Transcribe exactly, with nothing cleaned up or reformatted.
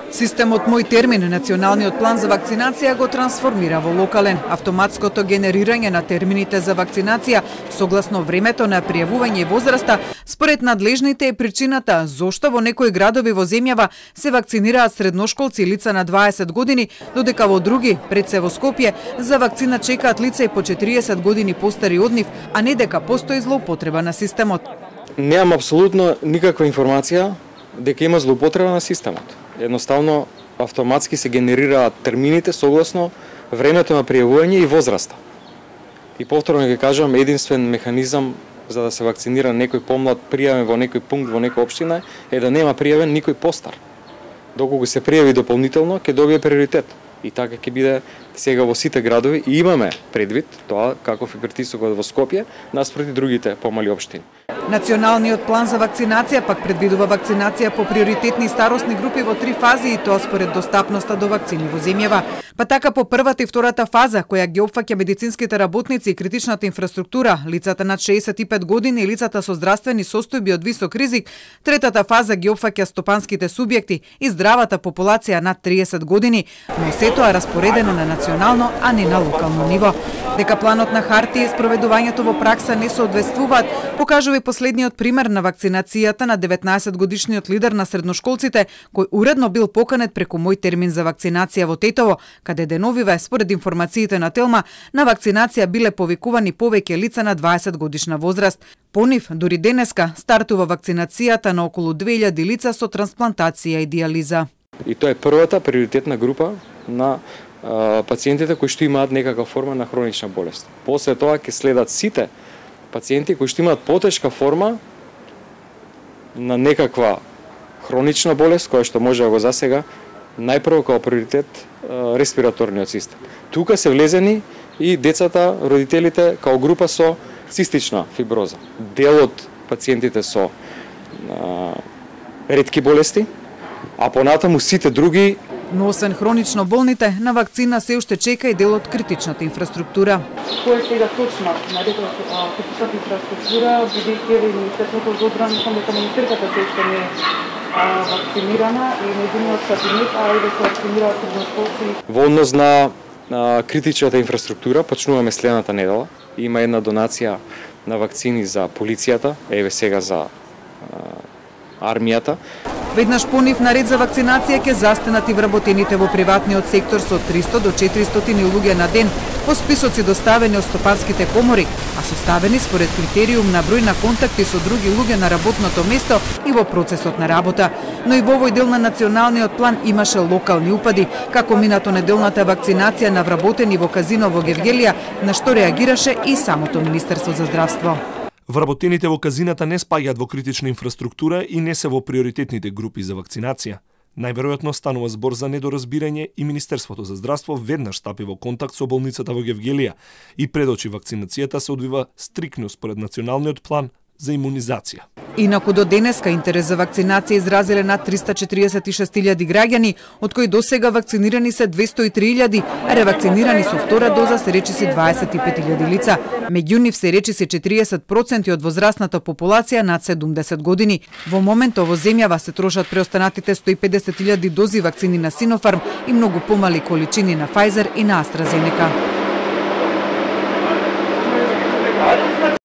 Системот Мој термин, националниот план за вакцинација го трансформира во локален. Автоматското генерирање на термините за вакцинација согласно времето на пријавување и возраста, според надлежните е причината зошто во некои градови во земјава се вакцинираат средношколци и лица на дваесет години, додека во други, пред се во Скопје, за вакцина чекаат лица и по четириесет години постари од нив, а не дека постои злоупотреба на системот. Немам апсолутно никаква информација дека има злоупотреба на системот. Едноставно, автоматски се генерираат термините согласно времето на пријавување и возраста. И повторно ќе кажам, единствен механизам за да се вакцинира некој помлад пријавен во некој пункт во некоја општина е да нема пријавен никој постар. Доколку се пријави дополнително, ќе добие приоритет. И така ќе биде сега во сите градови и имаме предвид тоа каков е притисокот во Скопје наспроти другите помали општини. Националниот план за вакцинација пак предвидува вакцинација по приоритетни старосни групи во три фази и тоа според достапноста до вакцини во земјава. Па така по првата и втората фаза, која ги опфаќа медицинските работници и критичната инфраструктура, лицата над шеесет и пет години и лицата со здравствени состојби од висок ризик, третата фаза ги опфаќа стопанските субјекти и здравата популација над триесет години, но се тоа е распоредено на национално, а не на локално ниво. Дека планот на хартија и спроведувањето во пракса не соодветствуваат, покажува и последниот пример на вакцинацијата на деветнаесет годишниот лидер на средношколците, кој уредно бил поканет преку Мој термин за вакцинација во Тетово, каде деновиве, според информациите на Телма, на вакцинација биле повикувани повеќе лица на дваесет годишна возраст. По нив, дури денеска, стартува вакцинацијата на околу две илјади лица со трансплантација и дијализа. И тоа е првата приоритетна група на а, пациентите кои што имаат некаква форма на хронична болест. После тоа ќе следат сите пациенти кои што имаат потешка форма на некаква хронична болест, која што може да го засега најпрво како приоритет респираторниот систем. Тука се влезени и децата, родителите као група со цистична фиброза. Дел од пациентите со а, ретки болести, а понатаму сите други. Но освен хронично болните, на вакцина се уште чека и дел од критичната инфраструктура. Кој е сега точно на критичната инфраструктура, бидејќи ви Министерството за одбрана, мислам дека министерката се уште не е вакцинирана и нејзиниот кабинет, а и да се вакцинираат средношколци. Во однос на, на критичната инфраструктура почнуваме следната недела. Има една донација на вакцини за полицијата, еве сега за а, армијата. Веднаш по нив наред за вакцинација ќе застенат и вработените во приватниот сектор со триста до четиристотини луѓе на ден, по списоци доставени од стопанските комори, а составени според критериум на број на контакти со други луѓе на работното место и во процесот на работа. Но и во овој дел на националниот план имаше локални упади, како минато неделната вакцинација на вработени во казино во Гевгелија, на што реагираше и самото Министерство за здравство. Вработените во казината не спаѓаат во критична инфраструктура и не се во приоритетните групи за вакцинација. Најверојатно станува збор за недоразбирање и Министерството за здравство веднаш стапи во контакт со болницата во Гевгелија и предочи вакцинацијата се одвива стрикно според националниот план за имунизација. Инаку до денеска интерес за вакцинација изразиле над триста четириесет и шест илјади граѓани, од кои досега вакцинирани се двесто и три илјади, а ревакцинирани со втора доза се речиси дваесет и пет илјади лица. Меѓу нив се речиси четириесет проценти од возрастната популација над седумдесет години. Во моментот во земјава се трошат преостанатите сто и педесет илјади дози вакцини на Синофарм и многу помали количини на Pfizer и на AstraZeneca.